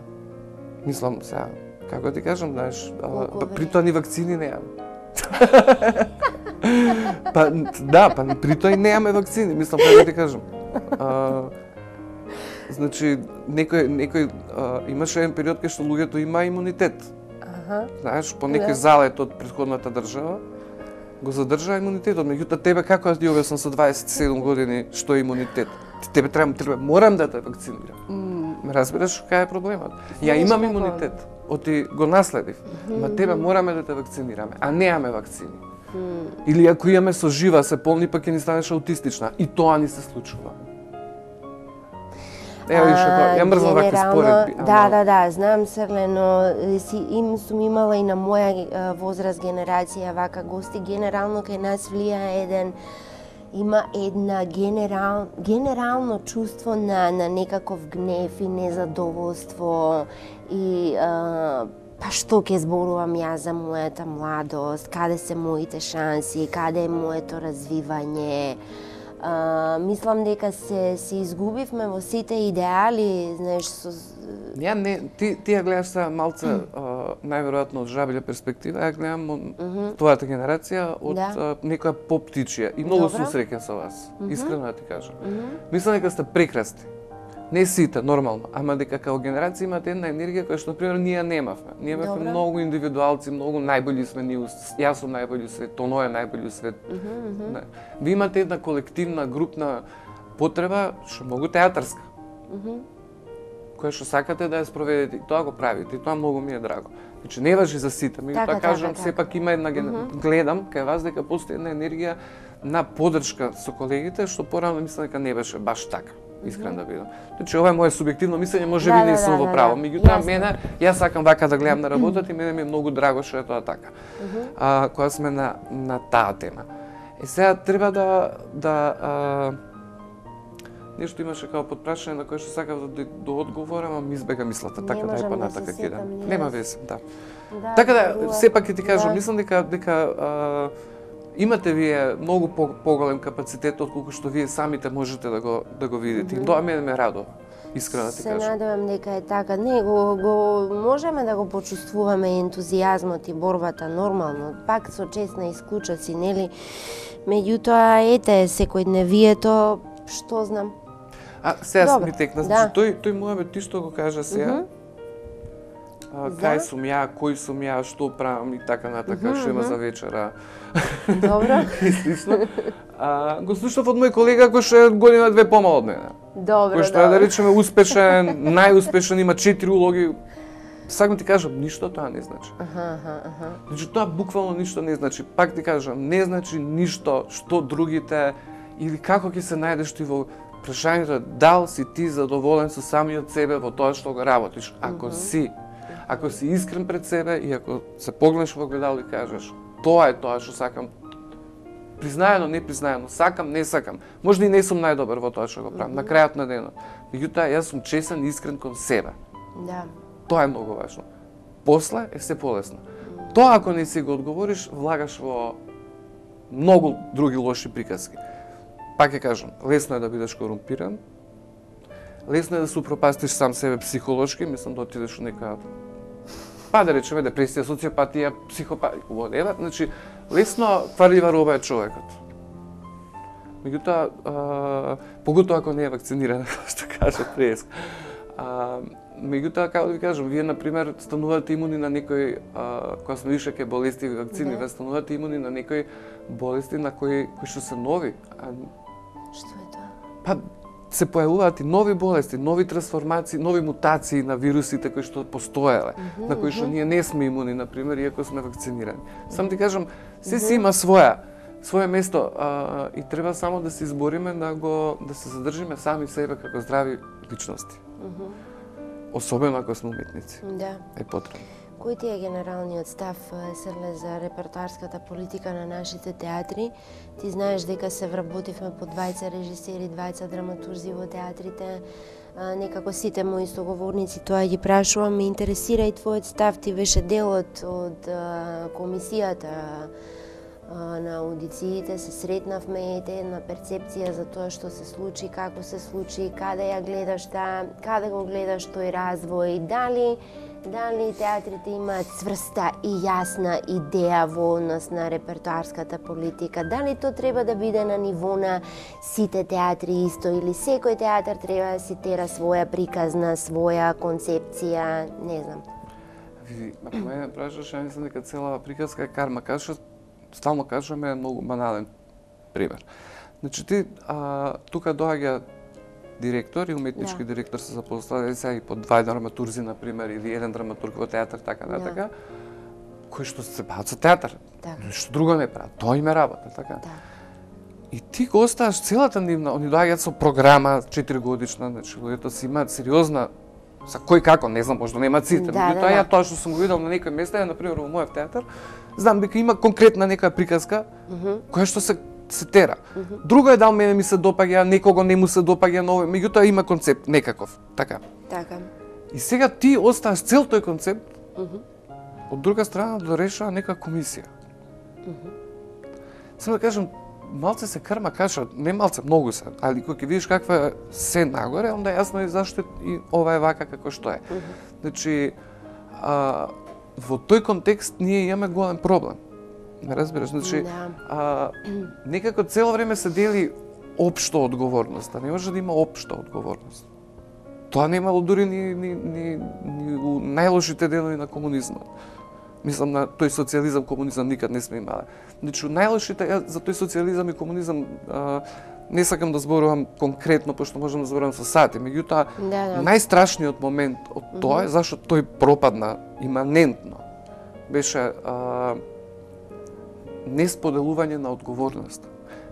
Мислам, сега, како ти кажам, знаеш, при тоа ни вакцини немаме. Па, да, па при тоа и немаме вакцини, мислам, како ти кажам. А, значи, некој, некој, а, имаше еден период кај што луѓето има имунитет. Знаеш, по некој залет од претходната држава го задржа имунитетот. Меѓутоа тебе како јас ти објаснам со дваесет и седум години што е имунитет? Ти тебе треба, треба морам да те вакцинирам. Mm. Разбираш кај е проблемот? Ја имам имунитет, оти го наследив. Mm. Ма тебе мораме да те вакцинираме, а немаме вакцини. Mm. Или ако имаме со жива се полни, па ќе ни станеш аутистична. И тоа ни се случува. Ево више тоа, ја мрзам вакви споредби. Да, да, да, знам, Срле, но си, им сум имала и на моја возраст генерација вака гости. Генерално кај нас влија еден, има една генерал, генерално чувство на, на некаков гнев и незадоволство и а, па што ќе зборувам јас за мојата младост, каде се моите шанси, каде е моето развивање. А, мислам дека се се изгубивме во сите идеали, знаеш, со Ја не, ти ти ја гледаш са малце најверојатно од жабилја перспектива, ја гледам од mm -hmm. твојата генерација од да. а, некоја поп-птичија и многу сум среќен со вас. Mm -hmm. Искрено да ти кажам. Mm -hmm. Мислам дека сте прекрасни. Не сите, нормално, ама дека као генерација имате една енергија која што, например, ние немавме. Ние имавме многу индивидуалци, многу најбољи сме ние, јас сум најбољи у свет, тоно е најбољи у свет. Mm -hmm. Не. Ви имате една колективна, групна потреба, што многу театарска. Mm -hmm. која што сакате да ја спроведете и тоа го правите и тоа многу ми е драго. Значи не важи за сите, ми така, кажам, така, сепак има една ген... mm -hmm. гледам кај вас дека постои една енергија на поддршка со колегите што порано мислам дека не беше баш така. Искрен да бидам. Значи ова е моје субјективно мислење, можеби да, не да, сум да, во право. Да, меѓутоа мене, јас сакам вака да гледам на работата и мене ми е многу драго што е тоа така. Mm -hmm. А кога сме на на таа тема. Е сега треба да да а, нешто имаше како подпрашање на кое што сакав да да одговорам, ама ми избега мислата, така да е понатака ќе идам. Нема вeze, да. да така да, сепак ќе ти кажам, да. Мислам дека дека а, имате вие многу по, поголем капацитет отколку што вие самите можете да го да го видите. Mm -hmm. Тоа мене ме радува. Искрено да ти кажам. Се надевам дека е така. Не, го, го можеме да го почувствуваме ентузијазмот и борбата нормално, пак со честна исклучоци, нели? Меѓутоа, ете, секојдневието, што знам. А, сега ми текна, значи, да. тој, тој мојабе, ти што го кажа сега, mm -hmm. а, кај сум ја, кој сум ја, што правам и така натака, mm -hmm. што има за вечера. Добро. И слично. А, го слушав од мој колега кој што е година две помал од мене. Добро, кој што е, да речеме, успешен, најуспешен, има четири улоги. Сакам ти кажам, ништо тоа не значи. Аха, аха, аха. Значи, тоа буквално ништо не значи. Пак ти кажам, не значи ништо што другите или како ќе се најдеш ти во прашањето дал си ти задоволен со самиот себе во тоа што го работиш. Ако mm -hmm. си, ако си искрен пред себе и ако се погледнеш во огледало и кажеш тоа е тоа што сакам, признаено, не признаено, сакам, не сакам, можда и не сум најдобар во тоа што го правам, mm -hmm. на крајот на денот. Меѓутоа, јас сум честен и искрен кон себе. Да. Тоа е многу важно. После е се полесно. Mm -hmm. Тоа ако не си го одговориш, влагаш во многу други лоши приказки. Пак ќе кажам, лесно е да бидеш корумпиран, лесно е да се упропастиш сам себе психолошки, мислам да отидеш у нека, па да речеме депресија, социопатија, психопатија, whatever, значи лесно кварлива роба е човекот. Меѓутоа, поготоа ако не е вакциниран, како што кажа преска. Меѓутоа, како да ви кажам, вие, например, станувате имуни на некои, кога сме више ке болести и вакцини, вие станувате имуни на некои болести на кои, кои што се нови. Што е тоа? Па, се појавуваат и нови болести, нови трансформации, нови мутации на вирусите кои што постоеле, mm -hmm, на кои што mm -hmm. ние не сме имуни, например, иако сме вакцинирани. Сам ти кажам, се mm -hmm. си има своја, своје место а, и треба само да се избориме да го да се задржиме сами себе како здрави личности. Mm -hmm. Особено ако сме уметници. Да. Е потребно. Кој ти е генералниот став, Серле, за репертоарската политика на нашите театри? Ти знаеш дека се вработивме по двајца режисери, двајца драматурзи во театрите. Некако сите мои соговорници тоа ги прашувам. Ме интересира и твојот став. Ти беше дел од, од комисијата на аудициите, се сретнавме, ете една перцепција за тоа што се случи, како се случи, каде ја гледаш таа, каде го гледаш тој развој, дали Дали театрите имаат цврста и јасна идеја во однос на репертоарската политика? Дали тоа треба да биде на ниво на сите театри исто или секој театар треба да си тера своја приказна, своја концепција, не знам. Види, ако мене прашаш, ја мислам дека цела приказка е карма. Кажа, стално кажаме многу банален пример. Значи ти а, тука доаѓа директор и уметнички да. директор се запоставени сега и по два драматурзи, например, или еден драматург во театар, така натака, да. кои што се бават со театар. Так. Ништо друго не прават. Тоа им е работа, така. Да. И ти го оставаш целата нивна, они доаѓаат со програма четири годишна, значи луѓето си имаат сериозна, за кој како, не знам, можда немаат сите, да, меѓутоа да, ја тоа што сум го видел на некој места, например во мојот театар, знам дека има конкретна нека приказка mm -hmm. која што се се тера. Mm -hmm. Друго е дал мене ми се допаѓа, некого не му се допаѓа, но меѓутоа има концепт некаков, така. Така. И сега ти оставаш цел тој концепт. Mm -hmm. Од друга страна да решава нека комисија. Mm -hmm. Само да кажам, малце се крма каша, не малце, многу се, али кога ќе видиш каква е се нагоре, онда јасно е зашто и ова е вака како што е. Mm -hmm. Значи, а, во тој контекст ние имаме голем проблем. Не разбираш, значи, да. а, некако цело време се дели општо одговорност, а не може да има општа одговорност. Тоа не имало дури ни, ни, ни, ни у најлошите денови на комунизмот. Мислам, на тој социјализам, комунизам никад не сме имале. Значи, најлошите, ја за тој социјализам и комунизам а, не сакам да зборувам конкретно, пошто можам да зборувам со сати, меѓутоа, да, да. најстрашниот момент од тоа е зашто тој пропадна иманентно. Беше а, несподелување на одговорност.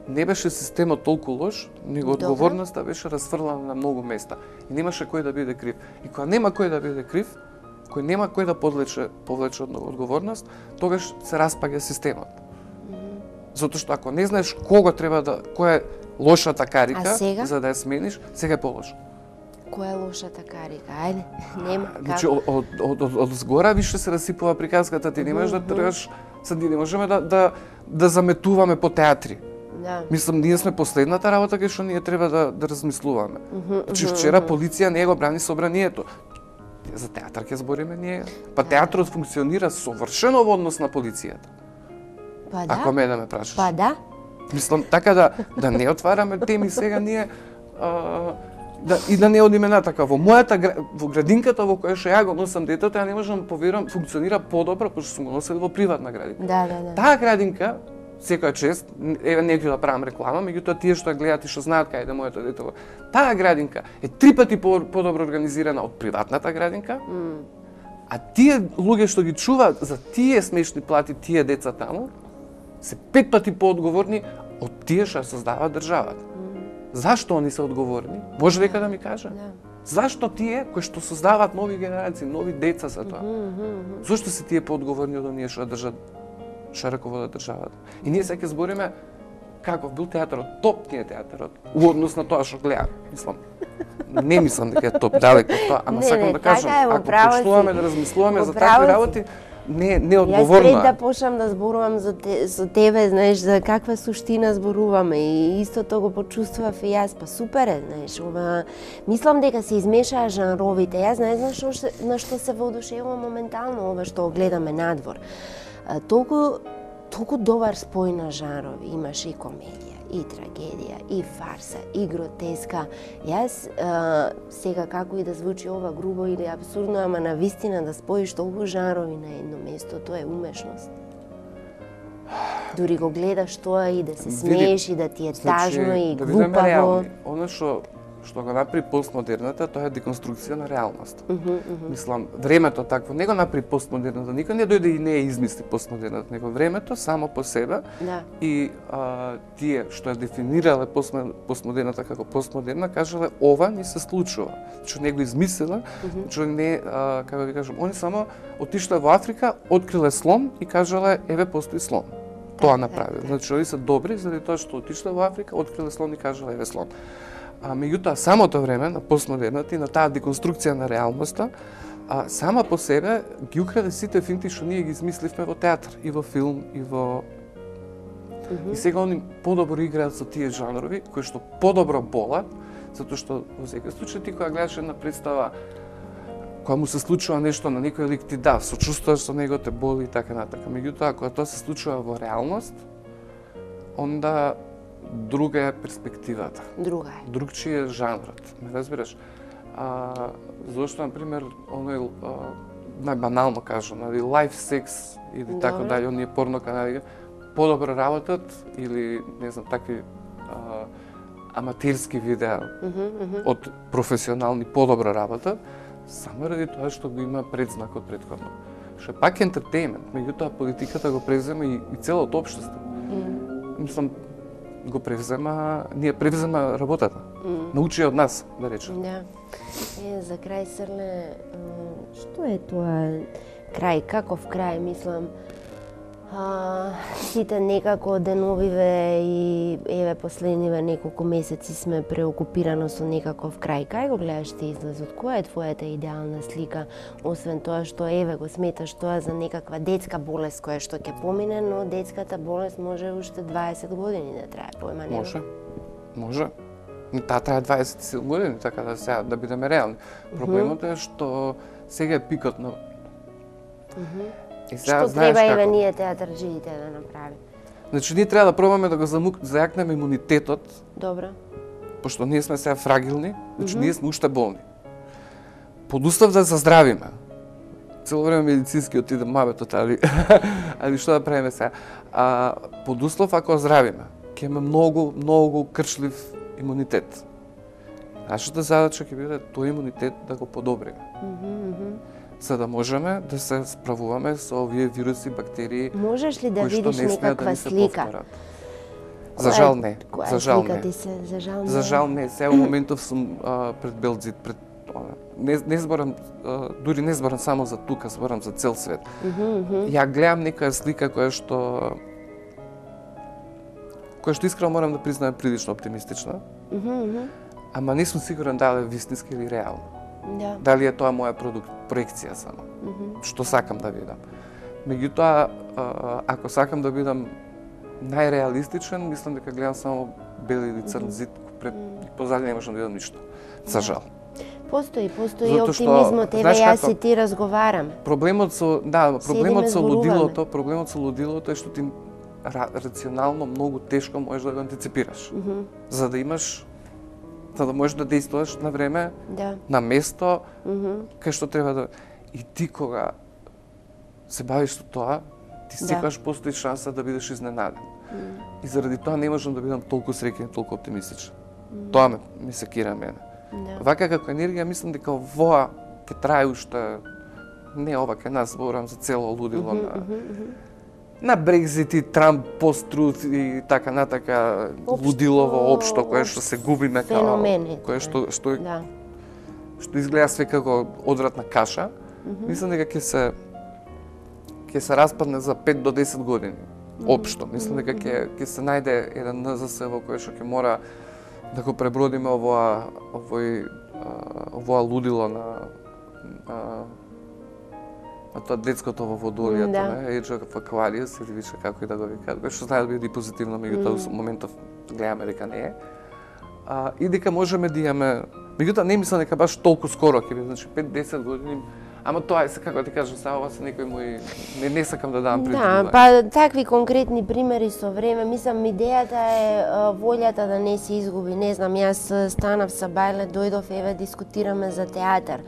Не беше системот толку лош, него одговорноста беше расфрлана на многу места. И немаше кој да биде крив. И кога нема кој да биде крив, кој нема кој да подлече, повлече одговорност, тогаш се распаѓа системот. Mm -hmm. Затоа што ако не знаеш кого треба да, која е лошата карика за да ја смениш, сега е полошо. Која е лошата карика? Ајде, нема. Значи, од, од, од, од, од згора више се расипува приказката, ти не можеш да тргаш, сад ние не можеме да, да, да заметуваме по театри. Да. Мислам, ние сме последната работа кај што ние треба да, да размислуваме. Mm -hmm, значи, вчера полиција не го брани собранието. За театар ќе збориме ние. Па да. Театрот функционира совршено во однос на полицијата. Па да. Ако ме да ме прашаш. Па да. Мислам, така да, да не отвараме теми сега ние, а, да, и да не одиме натака. Во мојата, во градинката во која што ја го носам детето, ја не можам да поверувам, функционира подобро, пошто сум го носел во приватна градинка. Да, да, да. Таа градинка, секоја чест, еве не ќе да правам реклама, меѓутоа тие што ја гледаат и што знаат кај да моето дете, таа градинка е три пати подобро организирана од приватната градинка. Mm. А тие луѓе што ги чуваат за тие смешни плати тие деца таму, се пет пати поодговорни од тие што создаваат државата. Mm. Зашто они се одговорни? Може дека да ми каже? Yeah. Зашто тие кои што создаваат нови генерации, нови деца за тоа? Mm -hmm. Зошто се тие поодговорни од оние што држат што раководат државата? И ние сега ќе збориме каков бил театарот, топ ни е театарот, у однос на тоа што гледам. Мислам, не мислам дека е топ, далеко од тоа, ама не, сакам не, да кажам, е, ако почнуваме да размислуваме за такви работи, не не одговорно. Јас пред да почнам да зборувам за те, со тебе, знаеш, за каква суштина зборуваме и истото го почувствував и јас, па супер е, знаеш, ова мислам дека се измешаа жанровите. Јас не знам што на што се воодушевувам моментално ова што гледаме надвор. А, толку толку добар спој на жанрови, имаш и комедија, и трагедија, и фарса, и гротеска. Јас а, сега како и да звучи ова грубо или абсурдно, ама на вистина да споиш толку жанрови на едно место, тоа е умешност. Дури го гледаш тоа и да се смееш и да ти е тажно значи, и да глупаво. Она што што го направи постмодерната, тоа е деконструкција на реалност. Uh -huh, uh -huh. Мислам, времето такво не го направи постмодерната, никој не дојде и не ја измисли постмодерната, него времето само по себе да. И а, тие што ја дефинирале постмодерната како постмодерна, кажале ова ни се случува. Што не го измислила, uh -huh. што не, а, како ви кажам, они само отишле во Африка, откриле слон и кажале еве постои слон. Тоа направиле. Значи, они се добри заради тоа што отишле во Африка, откриле слон и кажале еве слон. А меѓутоа самото време на постмодерната и на таа деконструкција на реалноста, а, сама по себе ги украде сите финти што ние ги измисливме во театар, и во филм, и во uh -huh. И сега они подобро играат со тие жанрови кои што подобро болат, затоа што во секој случај ти кога гледаш една представа кога му се случува нешто на некој лик, ти да, сочувствуваш со него, те боли и така натака. Меѓутоа кога тоа се случува во реалност, онда друга е перспективата. Друга е. Другчи е жанрот, ме разбираш? А, зошто, например, оној, најбанално кажам, нали, лайф секс или добре. Така дали, оние порно канали, подобро работат или, не знам, такви а, аматерски видеа uh -huh, uh -huh. од професионални подобро работат, само ради тоа што го има предзнак од претходно. Што е пак ентертејмент, меѓутоа политиката го презема и, и целото општество. Mm. Мислам, го превзема, ние превзема работата. Mm. Научи од нас, да речем. Да. Е, за крај, Срле, што е тоа крај, каков крај, мислам, А, сите некако деновиве и еве последниве неколку месеци сме преокупирано со некаков крај. Кај го гледаш ти излезот? Која е твојата идеална слика? Освен тоа што еве го сметаш тоа за некаква детска болест која што ќе помине, но детската болест може уште дваесет години да трае, појма нема. Може. Може. Таа трае дваесет и седум години, така да сега да бидеме реални. Проблемот е што сега е пикот на И сега, што треба еве ние театарџиите да направи? Значи, ние треба да пробаме да го замук... зајакнеме имунитетот. Добро. Пошто ние сме сега фрагилни, значи mm -hmm. ние сме уште болни. Под услов да заздравиме. Цело време медицински отидам мабетот, али, али што да правиме сега? А, под услов ако здравиме, ќе имаме многу, многу крчлив имунитет. Нашата задача ќе биде тој имунитет да го подобриме. Mm -hmm. За да можеме да се справуваме со овие вируси, бактерии, можеш ли да видиш не некаква да слика? За жал не. Која за жал слика не. Ти се, за жал не. За жал не. Сега во моментов сум а, пред Белзит, пред не, не зборам, а, дури не зборам само за тука, зборам за цел свет. Mm -hmm. Ја гледам некоја слика која што која што искрено морам да признаем прилично оптимистична. Mm -hmm. Ама не сум сигурен дали е вистински или реално. Да. Дали е тоа моја продукт, проекција само. Mm -hmm. Што сакам да видам. Меѓутоа, ако сакам да бидам најреалистичен, мислам дека гледам само бел или црн зид, пред позади не можам да видам ништо. За жал. Постои, постои оптимизмот, еве јас и ти разговараме. Проблемот со, да, проблемот со лудилото, проблемот со лудилото е што ти рационално многу тешко можеш да го антиципираш. Mm -hmm. За да имаш за да можеш да действуваш на време, да. на место, mm -hmm. кај што треба да... И ти кога се бавиш со тоа, ти секогаш да. Постои шанса да бидеш изненаден. Mm -hmm. И заради тоа не можам да бидам толку среќен, толку оптимистичен. Mm -hmm. Тоа ме, ме секира мене. Да. Вака како енергија, мислам дека воа ќе трае уште, не ова кај нас, зборам за цело лудило mm -hmm, на... Mm -hmm. на Брекзит и Трамп, пост-труд и така натака лудилово општо кое што се губиме као кое што што да. Што изгледа све како одвратна каша. Mm -hmm. Мислам дека ќе се ќе се распадне за пет до десет години. Mm -hmm. Општо, мислам дека ќе ќе се најде еден Н З С во кој што ќе мора да го пребродиме овоа овој овоа лудило на а, на тоа детското во водолијата, да. Не, Age of Aquarius, или више како и да го викаат, кој што знае да биде позитивно, меѓутоа mm. моментов гледаме дека не е. А, и дека можеме да имаме, меѓутоа не мислам дека баш толку скоро ќе биде, значи пет до десет години. Ама тоа е, како ти кажам, сега ова се некои мои, не, не сакам да дам предвидување. Да, па такви конкретни примери со време, мислам, идејата е волјата да не се изгуби. Не знам, јас станав са Бајле, дојдов, еве, дискутираме за театар.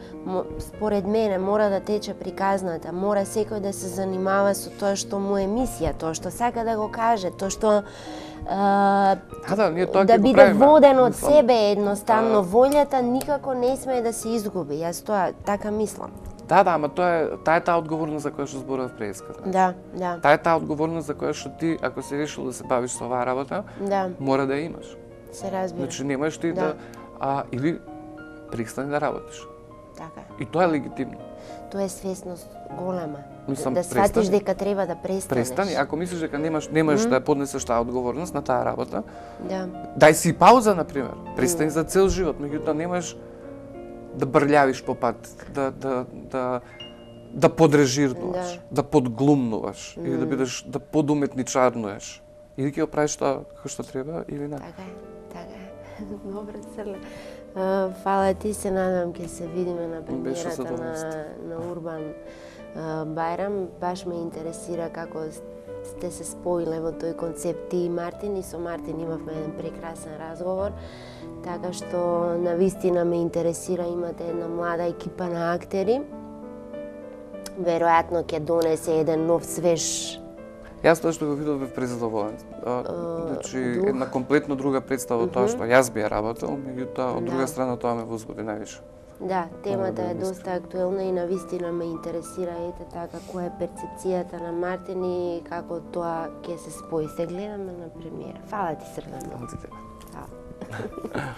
Според мене, мора да тече приказната, мора секој да се занимава со тоа што му е мисија, тоа што сака да го каже, тоа што Uh, да, да, ние тоа да ќе биде воден од себе едноставно, а... волјата никако не смее да се изгуби. Јас тоа така мислам. Да, да, ама тоа е таа е таа одговорност за која што зборував преска. Да, да. Таа е таа одговорност за која што ти, ако си решил да се бавиш со оваа работа, да. Мора да ја имаш. Се разбира. Значи немаш ти да, да а или престани да работиш. Така. И тоа е легитимно. Тоа е свесност голема. Мислам, да сватиш дека треба да престанеш. Престани, ако мислиш дека немаш немаш mm. да поднесеш таа одговорност на таа работа. Да. Дај си пауза на пример. Престани mm. за цел живот, меѓутоа немаш да брљавиш по пат, да да да да подрежирнуваш, да, да подглумнуваш mm. или да бидеш да подуметничарнуеш. Или ќе го правиш тоа како што треба или не. Така е, така е. Добро, Црле. Uh, фала ти, се надам ќе се видиме на премиерата на, на Урбан uh, Бајрам. Баш ме интересира како сте се споиле во тој концепт ти и Мартин, и со Мартин имавме еден прекрасен разговор, така што навистина ме интересира, имате една млада екипа на актери. Веројатно ќе донесе еден нов свеж. Јас тоа што го видов бев презадоволен. Значи една комплетно друга представа од тоа што јас би ја работел, меѓутоа од друга страна тоа ме возбуди највише. Да, темата е доста актуелна и навистина ме интересира ете така која е перцепцијата на Мартин и како тоа ќе се спои. Се гледаме на премиера. Фала ти, Срдано. Фала ти тебе. Фала.